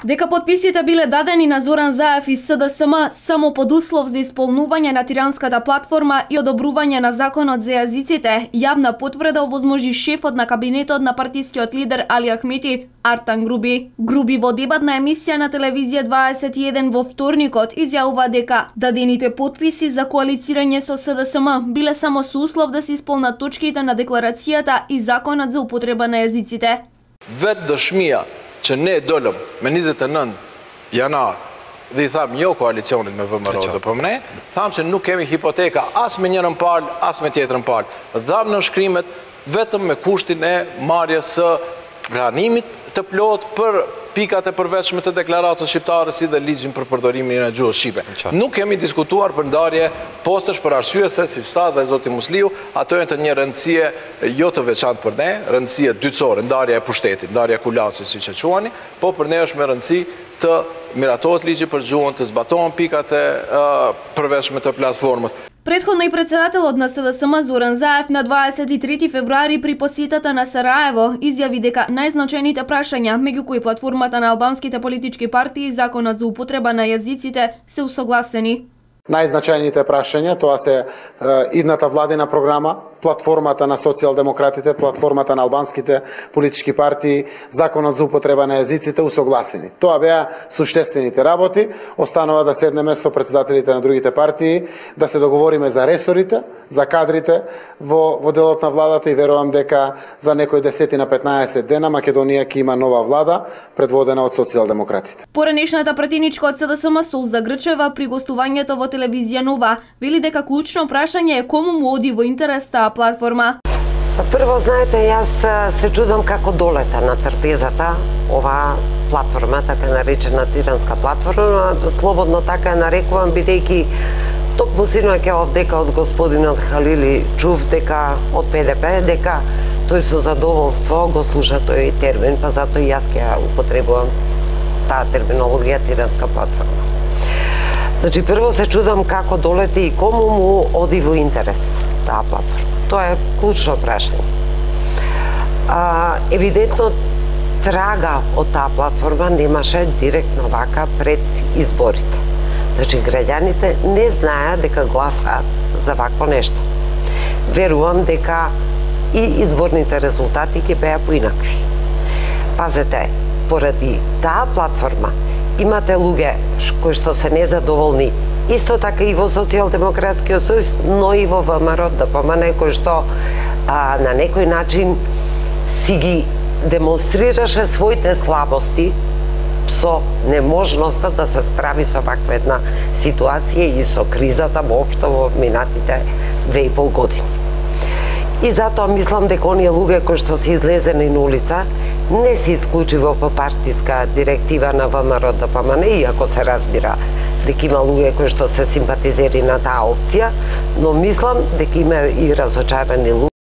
Дека потписите биле дадени на Зоран Заев и СДСМ само под услов за исполнување на тиранската платформа и одобрување на законот за јазиците, јавна потврда овозможи шефот на кабинетот на партискиот лидер Али Ахмети, Артан Груби. Груби во дебатна емисија на телевизија 21 во вторникот изјавува дека дадените потписи за коалицирање со СДСМ биле само со услов да се исполнат точките на декларацијата и законот за употреба на јазиците. Вет dëshmia që ne dolëm me 29 janar dhe I tham jo koalicionit me VMRO dhe PMN, tham që nuk kemi hipoteka as me njërën palë, as me tjetrën palë. Dham në shkrimet vetëm me kushtin e marrjes së pranimit të plot për pikat e përveçme të deklaratës shqiptare si dhe ligjin për përdorimin e gjuhës shqipe. Nuk kemi diskutuar për ndarje postësh për arsye se si sa dhe zoti Musliu, ato janë të një rëndësie jo të veçantë për ne, rëndësie dytësore, ndarja e pushtetit, ndarja e kulacit siç e quani, po për ne është me rëndësi të miratohet ligji për gjuhën, të zbatohen pikat e përveçme të platformës. Претходно и председателот на СДСМ Зоран Заев на 23 февруари при посетата на Сараево изјави дека најзначајните прашања, меѓу кои платформата на албанските политички партии и законот за употреба на јазиците, се усогласени. Најзначајните прашања тоа се идната владина програма, платформата на социјалдемократите, платформата на албанските политички партии, законот за употреба на јазиците усогласени. Тоа беа суштествените работи, останува да седнеме со председателите на другите партии, да се договориме за ресорите, за кадрите во делот на владата и верувам дека за некои 10 на 15 дена Македонија ќе има нова влада предводена од социјалдемократите. Поранешната пратеничка од СДСМ Солза Грчева при гостувањето во телевизија Нова вели дека клучно прашање е кому му оди во интерес таа платформа. Прво, знаете, јас се чудам како долета на трпезата оваа платформа, така наречена тиранска платформа, слободно така нарекувам, бидејќи токму синоќа дека од господинот Халили чув дека од ПДП, дека тој со задоволство го слуша тој термин, па затоа и јас ќе употребувам таа терминологија тиранска платформа. Значи, прво се чудам како долете и кому му оди во интерес таа платформа. Тоа е клучно прашање. Евидентно, трага од таа платформа немаше директно вака пред изборите. Значи, граѓаните не знаеат дека гласаат за вакво нешто. Верувам дека и изборните резултати ќе беа поинакви. Пазете, поради таа платформа имате луѓе кои што се незадоволни исто така и во Социјалдемократскиот сојуз, но и во ВМРО ДПМН, кој што на некој начин си ги демонстрираше своите слабости со неможноста да се справи со ваква една ситуација и со кризата воопшто во минатите 2,5 години. И затоа мислам дека оние луѓе кои што се излезени на улица не се исклучиво по партиска директива на ВМРО ДПМН, иако се разбира дека има луѓе кои што се симпатизери на таа опција, но мислам дека има и разочарани луѓе